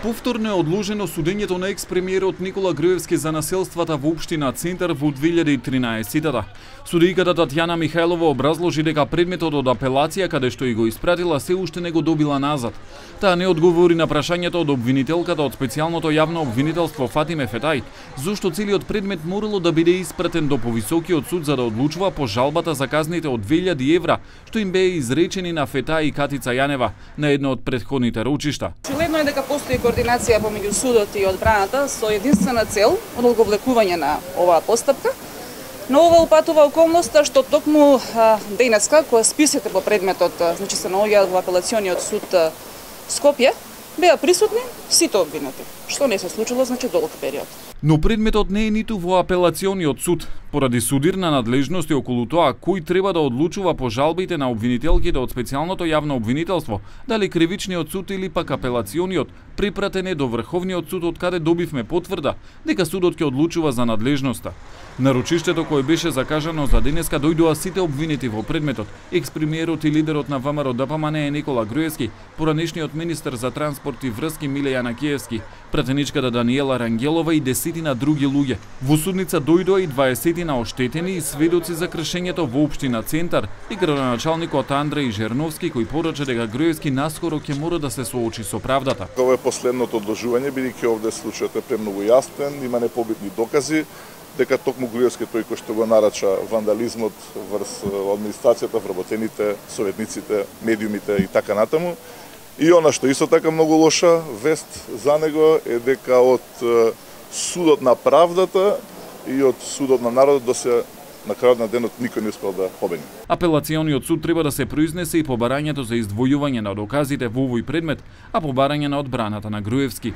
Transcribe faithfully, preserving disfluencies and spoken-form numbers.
Повторно е одложено судењето на екс-премиерот Никола Груевски за населствата во општина Центар во две илјади и тринаесетта. Судијката Татјана Михајлова образложи дека предметот од апелација каде што и го испратила се уште не го добила назад. Таа не одговори на прашањето од обвинителката од специјалното јавно обвинителство Фатиме Фетај, зошто целиот предмет морало да биде испратен до повисокиот суд за да одлучува по жалбата за казните од две илјади евра, што им беа изречени на Фетај и Катица Јанева на едно од претходните рочишта. Очигледно е дека постои координација помеѓу судот и одбраната со единствена цел од одговлекување на оваа постапка. Но ова упатува околноста што токму денеска, кога списите по предметот, значи се наоѓаат во апелациониот суд Скопје, беа присутни сите обвинети, што не се случило значи долг период. Но предметот не е ниту во апелациониот суд, поради судирна надлежност и околу тоа кој треба да одлучува по жалбите на обвинителките од специјалното јавно обвинителство, дали кривичниот суд или пак апелациониот, припратен е до Врховниот суд од каде добивме потврда дека судот ќе одлучува за надлежноста. На рочиштето кое беше закажано за денеска дојдоа сите обвинети во предметот, екс-премиерот и лидерот на ВМРО Д П М Н Никола Груевски, поранешниот министер за транспорт и врски Миле Јанакиевски, пратеничката Даниела Рангелова и десетина други луѓе. Во судница дојдоа и дваесетина оштетени и сведоци за кршењето во општина Центар и градоначалникот Андреј Жерновски кој порача дека Груевски наскоро ќе мора да се соочи со правдата. Ова е последното одложување, бидејќи овде случајот е премногу јасен, има непобитни докази дека токму Груевски тој кој што го нарача вандализмот врз администрацијата, вработените, советниците, медиумите и така натаму. И она што исто така многу лоша вест за него е дека од судот на правдата и од судот на народот до се на крајот на денот никој не успел да победи. Апелациониот суд треба да се произнесе и по барањето за издвојување на доказите во овој предмет, а по барање на одбраната на Груевски.